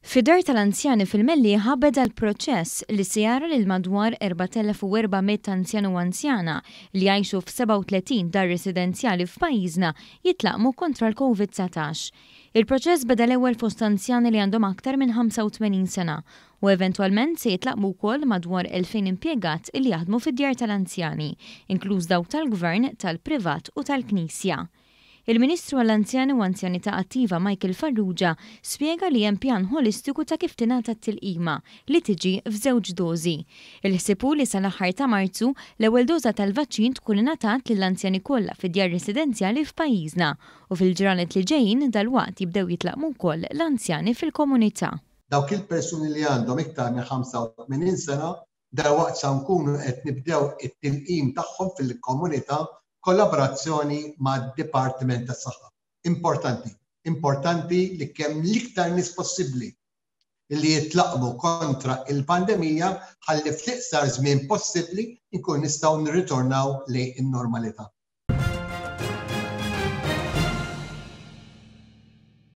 Fid-dar tal-anzjani fil-Mellieħa beda l-proċess li se jara lil madwar 4,400 anzjan u anzjana li jgħixu f'37 dar residenzjali f'pajjiżna jitlaqqmu kontra l-Covid 19. Il-proċess beda l-ewwel fost anzjani li għandhom aktar minn 85 sena u eventwalment se jitlaqqmu wkoll madwar 2,000 impjegat li jaħdmu fid-djar tal-anzjani, inkluż dawk tal-Gvern, tal-privat u tal-Knisja. Il-Ministru għall-Anzjani u Anzjanità Attiva Michael Farrugia spjega li hemm pjan ħolistiku ta' kif tingħata t-tilqima, li tiġi f'żewġ dożi. Il-ħsieb hu li sal-aħħar ta' Marzu, l-ewwel doża tal-vaċċin tkun ingħatat lill-anzjani kollha fid-djar residenzjali f'pajjiżna u fil-ġranet li ġejjin dalwaqt jibdew jitlaqqmu wkoll l-anzjani fil-komunità. Dawk il-persuni li għandhom iktar minn 85 sena Dalwaqt sa nkunu qed nibdew it-tilqim tagħhom fil-komunità b'kollaborazzjoni mad-Dipartiment tas-Saħħa. Importanti, importanti li kemm l-iktar nies possibbli li jitlaqqmu kontra il-pandemija ħalli fl-iqsar żmien possibbli nkunu nistgħu nirritornaw lejn in-normalità.